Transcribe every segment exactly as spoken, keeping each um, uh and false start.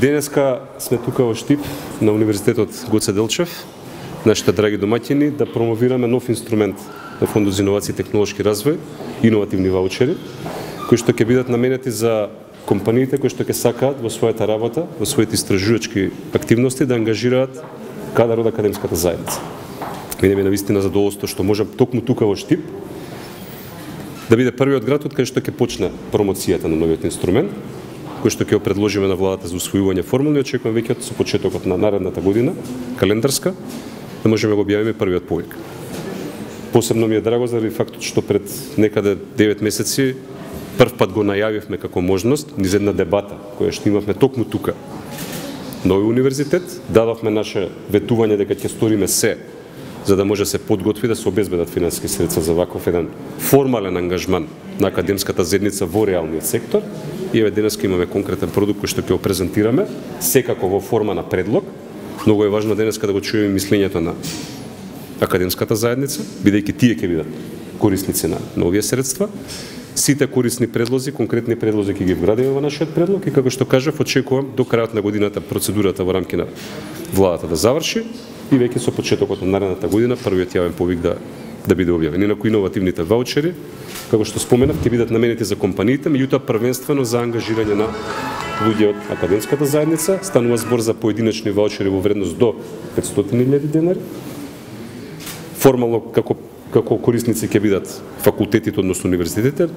Денеска сме тука во Штип на Универзитетот Гоце Делчев, нашите драги домаќини, да промовираме нов инструмент на Фондот за инновации и технолошки развој, иновативни ваучери, кои што ќе бидат наменети за компаниите кои што ќе сакаат во својата работа, во своите истражувачки активности да ангажираат кадар од академската заедница. Мене ми е навистина задоволство што можам токму тука во Штип да биде првиот град од кај што ќе почне промоцијата на новиот инструмент, кој што ќе го предложиме на владата за усвојување формулни, очекувам веќе со почетокот на наредната година, календарска, да можеме да го објавиме првиот повик. Посебно ми е драго заради фактот што пред некаде девет месеци прв пат го најавивме како можност низ една дебата која што имавме токму тука. Нови универзитет, дадовме наше ветување дека ќе сториме се за да може да се подготви да се обезбедат финансиски средства за ваков еден формален ангажман на академската заедница во реалниот сектор. И еве денеска имаме конкретен продукт кој што ќе го презентираме, секако во форма на предлог. Многу е важно денеска да го чуеме мислењето на академската заедница, бидејќи тие ќе бидат корисници на новие средства. Сите корисни предлози, конкретни предлози ќе ги вградиме во нашиот предлог и како што кажав, очекувам до крајот на годината процедурата во рамки на владата да заврши и веќе со почетокот на наредната година првиот јавен повик да да биде објавен. Инаку иновативните ваучери, како што споменав, ќе бидат наменети за компаниите, меѓутоа првенствено за ангажирање на луѓе од академската заедница. Станува збор за поединечни ваучери во вредност до петстотини илјади денари. Формално како како корисници ќе бидат факултетите, односно универзитетите,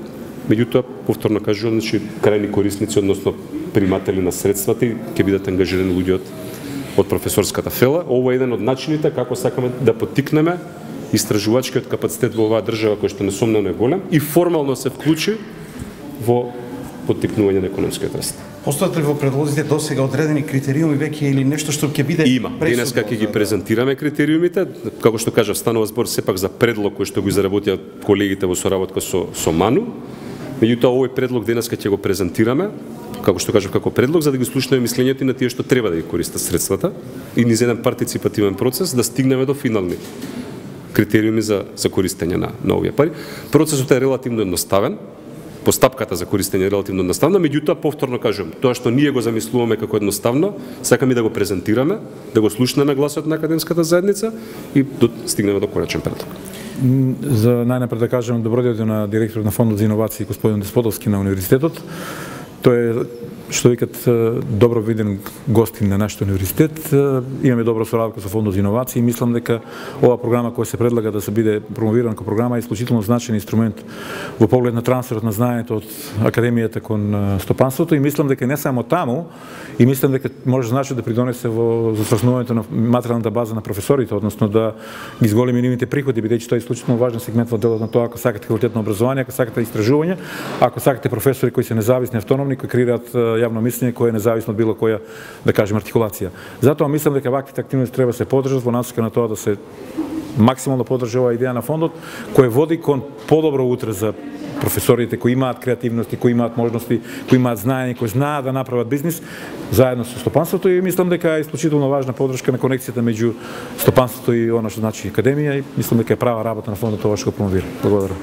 меѓутоа повторно кажувам, значи крајни корисници, односно приматели на средствата и ќе бидат ангажирани луѓе од од професорската фела. Ова е еден од начините како сакаме да поттикнеме истражувачкиот капацитет во оваа држава кој што несомнено е голем и формално се вклучи во поттикнување на економскиот раст. Постојат ли во предлозите досега одредени критериуми веќе или нешто што ќе биде Има. Денеска ќе ги презентираме критериумите, како што кажав, станува збор сепак за предлог кој што го изработија колегите во соработка со со МАНУ. Меѓутоа овој предлог денеска ќе го презентираме, како што кажав, како предлог за да ги слушнеме мислењето и на тие што треба да ги користат средствата и низ еден партиципативен процес да стигнеме до финални критериуми за за користење на на овие пари. Процесот е релативно едноставен. Постапката за користење е релативно едноставна, меѓутоа повторно кажувам, тоа што ние го замислуваме како едноставно, сакаме да го презентираме, да го слушнеме гласот на академската заедница и до, стигнеме до конечен предлог. За најнапред да кажам добро дојде на директорот на Фондот за инновации господин Десподовски на универзитетот. Тој е што викат добро виден гостин на нашиот универзитет. Имаме добра соработка со Фондот за инновации и мислам дека оваа програма која се предлага да се биде промовирана како програма е исклучително значаен инструмент во поглед на трансферот на знаењето од академијата кон стопанството и мислам дека не само таму и мислам дека може значи да придонесе во засврснувањето на материјалната база на професорите, односно да ги зголеми нивните приходи, бидејќи тоа е исклучително важен сегмент во делот на тоа ако сакате квалитетно образование, ако сакате истражување, ако сакате професори кои се независни, автономни, кои креираат јавно мислење кое е независно од било која, да кажем, артикулација. Затоа мислам дека ваквите активности треба да се поддржат во насока на тоа да се максимално поддржа оваа идеја на фондот, кој води кон подобро утре за професорите кои имаат креативности, кои имаат можности, кои имаат знаење, кои знаат да направат бизнис заедно со стопанството и мислам дека е исклучително важна поддршка на конекцијата меѓу стопанството и она што значи академија и мислам дека е права работа на фондот тоа што го промовира. Благодарам.